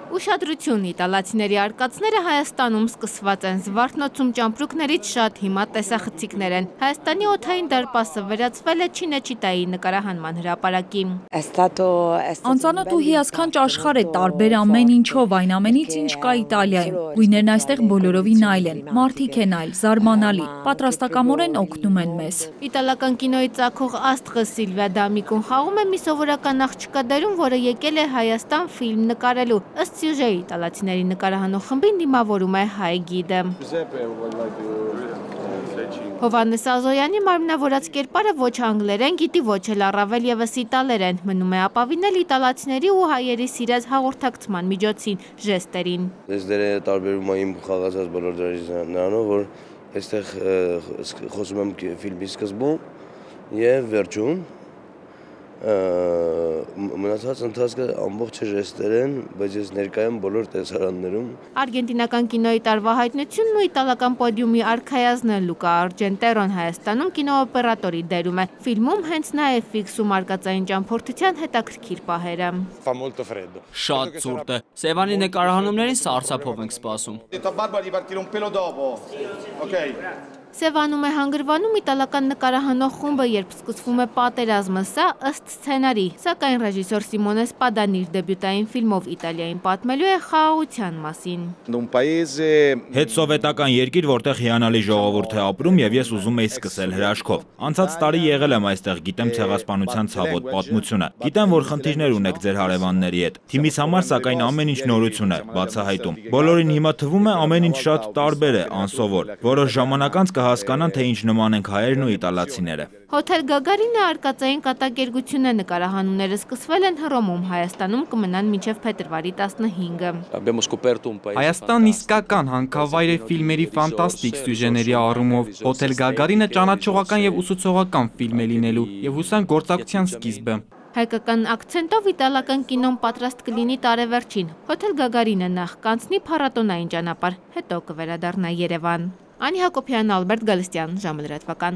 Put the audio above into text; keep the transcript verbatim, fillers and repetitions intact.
Ուշադրություն իտալացիների արկածները Հայաստանում սկսված են զվարթնոցում ճամպրուկներից շատ հիմա տեսախցիկներ են։ Հայաստանի օդային դարպասը վերածվել է Չինեչիտայի նկարահանման հրապարակի։ Անծանոթ ու հիասքանչ աշխարհ է, տարբեր ամեն ինչով, այն ամենից ինչ կա Իտալիայում։ Գույներն այստեղ բոլորովին այլ են, մարդիկ են այլ, զարմանալի, պատրաստակամորեն օգնում են մեզ։ Իտալական կինոյի ծագող աստղը Սիլվիա Դամիկուն խաղում է մի սովորական աղջկա դերում, որը եկել է Հայաստան ֆիլմ նկարելու։ Ըստ սյուժեի իտալացիների նկարահանող խմբին դիմավորում է հայ գիդը։ Հովհաննես Ազոյանի մարմնավորած կերպարը ոչ անգլերեն գիտի, ոչ էլ առավել ևս իտալերեն, մնում է ապավինել իտալացիների ու հայերի սիրած հաղորդակցման միջոցին, ժեստերին։ Ես դերը տարբերում եմ խաղացած բոլոր դերերից նրանով, որ այստեղ խոսում եմ ֆիլմի սկզբում եւ վերջում մնացած ընթացքը ամբողջ ժեստեր են, բայց ես ներկայ եմ բոլոր տեսարաններում։ Արգենտինական կինոյի տարվա հայտնությունն ու իտալական պոդիումի արքայազնը Լուկա Արջենտերոն Հայաստանում կինոօպերատորի դերում է։ Ֆիլմում հենց նա է ֆիքսում արկածային ճամփորդության հետաքրքիր պահերը։ Շատ ցուրտ է։ Սևանի նկարահանումներին սարսափով ենք սպասում։ Սևանում է հանգրվանում իտալական նկարահանող խումբը, երբ սկսվում է պատերազմը, սա ըստ սցենարի, սակայն ռեժիսոր Սիմոնե Սպադան իր դեբյուտային ֆիլմով Իտալիային պատմելու է խաղաղության մասին։ Հետսովետական երկիր, որտեղ հիանալի ժողովուրդ է ապրում եւ ես ուզում եի սկսել հրաշքով։ Անցած տարի եղել եմ այստեղ, գիտեմ ցեղասպանության ցավոտ պատմությունը։ Գիտեմ, որ խնդիրներ ունեք ձեր հարևանների հետ։ Թիմիս համար սակայն ամեն ինչ նորություն է, բացահայտում։ Բոլորին հիմա թվում է ամեն ինչ շատ տարբեր է, անսովոր։ Որոշ ժամանակ անց հասկանան, թե ինչ նման ենք հայերն ու իտալացիները։ Հոթել Գագարինը արկածային կատակերգություն է, նկարահանումները սկսվել են Հռոմում, Հայաստանում կմնան մինչև փետրվարի տասնհինգը։ Հայաստանն իսկական հանքավայր է ֆիլմերի ֆանտաստիկ սյուժեների առումով։ Հոթել Գագարինը ճանաչողական եւ ուսուցողական ֆիլմ է լինելու եւ հուսանք գործակցության սկիզբը։ Հայկական ակցենտով իտալական կինոն պատրաստ կլինի տարեվերջին։ Հոթել Գագարինը նախ կանցնի փառատոնային ճանապարհ, հետո կվերադառնա Երևան։ Անի Հակոբյան, Ալբերտ Գալստյան, ժամը լրատվական։